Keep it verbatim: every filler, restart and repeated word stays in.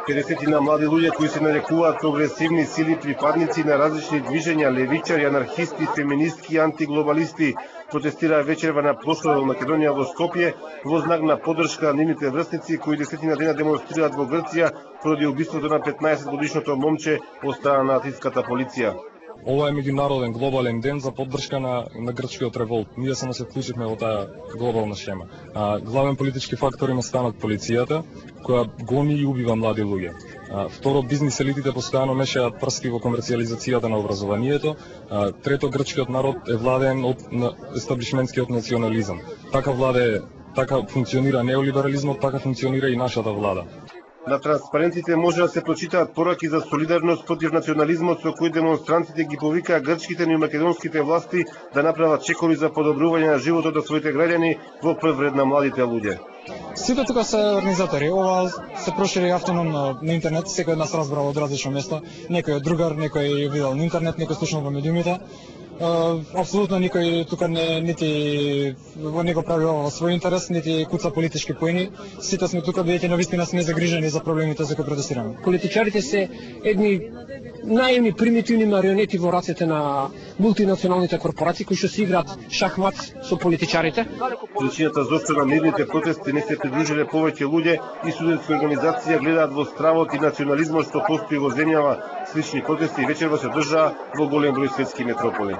педесетина млади луѓе кои се нарекуваат прогресивни сили, припадници на различни движења, левичари, анархисти, феминистки и антиглобалисти, протестираа вечерва на плошадот во Македонија во Скопје во знак на поддршка на нивните врсници кои десетина дена демонстрираат во Грција поради убиството на петнаесет годишното момче од страна на атиската полиција. Ова е меѓународен глобален ден за поддршка на, на грчкиот револт. Ние само се вклучивме во таа глобална шема. А, главен политички фактор има станот полицијата, која гони и убива млади луѓе. А, второ, бизнис елитите постојано мешаат прсти во комерцијализацијата на образованието. А, трето, грчкиот народ е владен од естаблишментскиот национализам. Така владе, така функционира неолиберализмот, така функционира и нашата влада. На транспарентите може да се прочитаат пораки за солидарност против национализмот со кои демонстрантите ги повикаа грчките и македонските власти да направат чекови за подобрување на животот на своите граѓани во прв ред на младите луѓе. Сите тука се организатори. Ова се прошири автономно на интернет, секој од нас разбрал од различно место. Некој од другар, некој видел на интернет, некој слушнал во медиумите. Uh, апсолутно никој тука не нити во него прави ова во свој интерес, нити куца политички поени. Сите сме тука бидејќи навистина сме загрижени за проблемите за кои протестираме. Политичарите се едни наивни примитивни марионети во рацете на мултинационалните корпорации кои што се играат шахмат со политичарите. Причината зошто на мирните протести не се придружиле повеќе луѓе и студентски организации гледаат во стравот и национализмот што постои во земјава. Слични протести вечерва се одржаа во голем број светски метрополи.